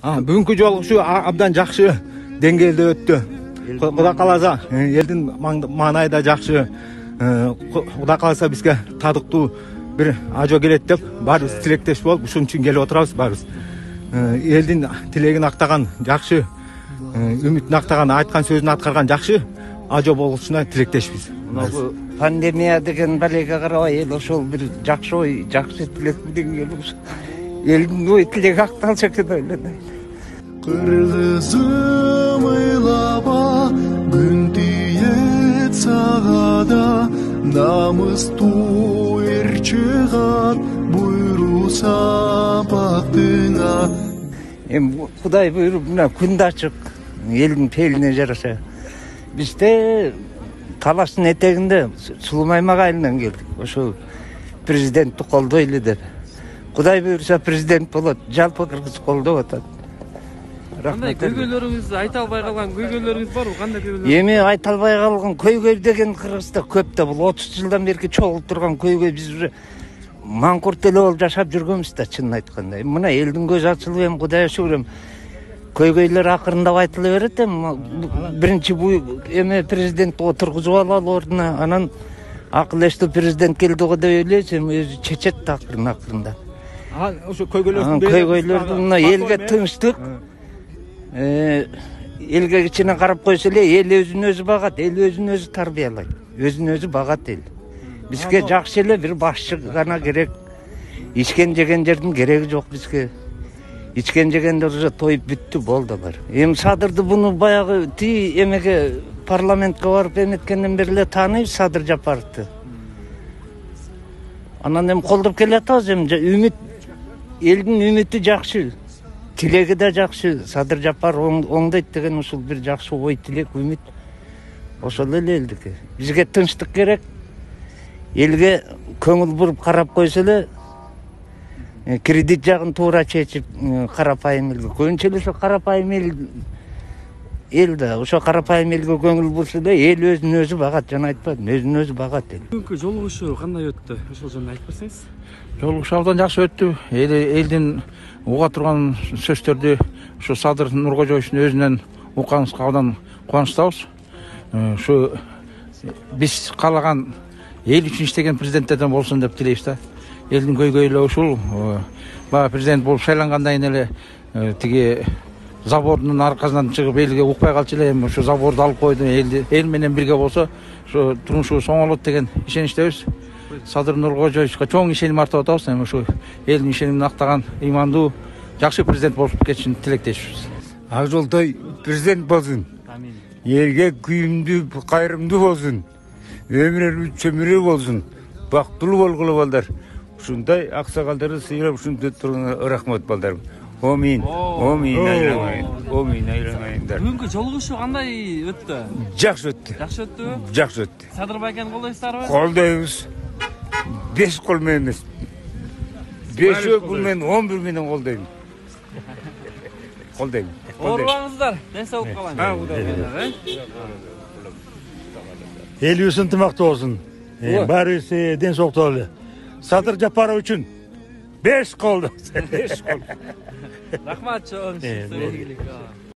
Бүгүнкү жолу ушу абдан жакшы деңгээлде өттү. Кудай кааласа, элдин маанайда жакшы. Кудай кааласа бизге татыктуу бир ажо келет деп баарыбыз тилектеш болуп, ушун үчүн келип отурабыз баарыбыз. Элдин тилегин актаган жакшы, үмүтүн актаган, айткан сөзүн аткарган жакшы ажо болушуна тилектешпиз. Бул пандемия деген балеге карабай эл ошол бир жакшы ой, жакшы тилек менен келип элдин ой тилеги акталса экен деп ойлойм. Кыргызым ыйлаба, күн тиет сага да, намыстуу эр чыгат буйруса бактыңа. Эми Кудай буйруп мына күн да ачык, элдин пейилине жараша. Бизде талаштын этегинде Сулумаймак айылынан келдик. Ошо президентти колдойлу деп. Кудай буйруса президент болот, жалпы кыргыз колдоп атат. Кандай көйгөйлөрүңүз, айта албай калган көйгөйлөрүңүз барбы? Кандай көйгөйлөр? Эми айта албай калган көйгөй деген Кыргызда көп да. Бул 30 жылдан берки чогулуп турган көйгөй биз уже маңкурт эле болуп жашап жүргөнбүз да, чынын айтканда. Мына элдин көзү ачылып, эми Кудайга шүгүр, көйгөйлөр акырындап айтыла берет. Биринчи бу эме президент отургузуп алалы ордуна, анан акыл эстүү президент келди го деп ойлойбуз, эми өзү чечет да акырында. Ошо көйгөйлөрдүн мына элге тынчтык, элге кичине карап койсо эле эл өзүн өзү багат, эл өзүн өзү тарбиялайт, өзүн өзү багат эл. Бизге жакшы эле бир башчы гана керек. Ичкен жеген жердин кереги жок бизге. Ичкен жегендер уже тоюп бүттү, болду бар. Эми Садырды буну баягы эмеге парламентке барып эметкенден бери эле тааныйбыз Садыр Жапаровду. Анан эми колдоп келатабыз, эми үмүт, элдин үмүтү жакшы. Тилеги да жакшы. Садыр Жапаров оңдойт деген ушул бир жакшы ой, тилек, үмүт. Ошол эле элдики. Бизге тынчтык керек. Элге көңүл буруп карап койсо эле, кредит жагын туура чечип, карапайым элге. Көбүнчө эле ошо карапайым эл да, ошо карапайым элге көңүл бурса эле эл өзүн өзү багат, жана айтпадым, өзүн өзү багат эл. Бүгүнкү жолугушуу кандай өттү? Ошол жөнүндө айтып берсеңиз. Жолугушуу абдан жакшы өттү. Элдин уга турган сөздөрдү ушу Садыр Нуркожоевичтин өзүнөн укканыбызга абдан кубанычтабыз. Ушу биз каалаган эл үчүн иштеген президенттерден болсун деп тилейбиз да. Элдин көйгөйлөрү ушул. Бага президент болуп шайлангандан кийин эле тиги забордун аркасынан чыгып элге укпай калчу эле, эми ушу заборду алып койду. Эл менен бирге болсо ушу турмушубуз оңолот деген ишеничтебиз. Садыр Нуркожоевичке чоң ишеним артып атабыз. Эми ушу элдин ишенимин актаган ыймандуу, жакшы президент болуп кетишин тилектешпиз. Ак жолтой президент болсун. Элге күйүмдүү, кайрымдуу болсун. Өмүрү чөмүрө болсун. Бактылуу болгула балдар. Ушундай аксакалдарды сыйрап ушинтип турган рахмат балдарым. Омин. Омин айламайын. Омин айламайындар. Бүгүнкү жолугушуу кандай өттү? Жакшы өттү. Жакшы өттүбү? Жакшы өттү. Садыр байкени колдойсуздарбы? Колдойбуз. 5 кол менен эмес. 5 кол менен 11 менен колдойм. Колдойм. Оорубаңыздар, ден соолук калайын. Элибиз ынтымактуу болсун. Баарыбыз ден соолуктуу бололу. Садыр Жапаров үчүн 5 кол. 5 кол. Рахмат чоң.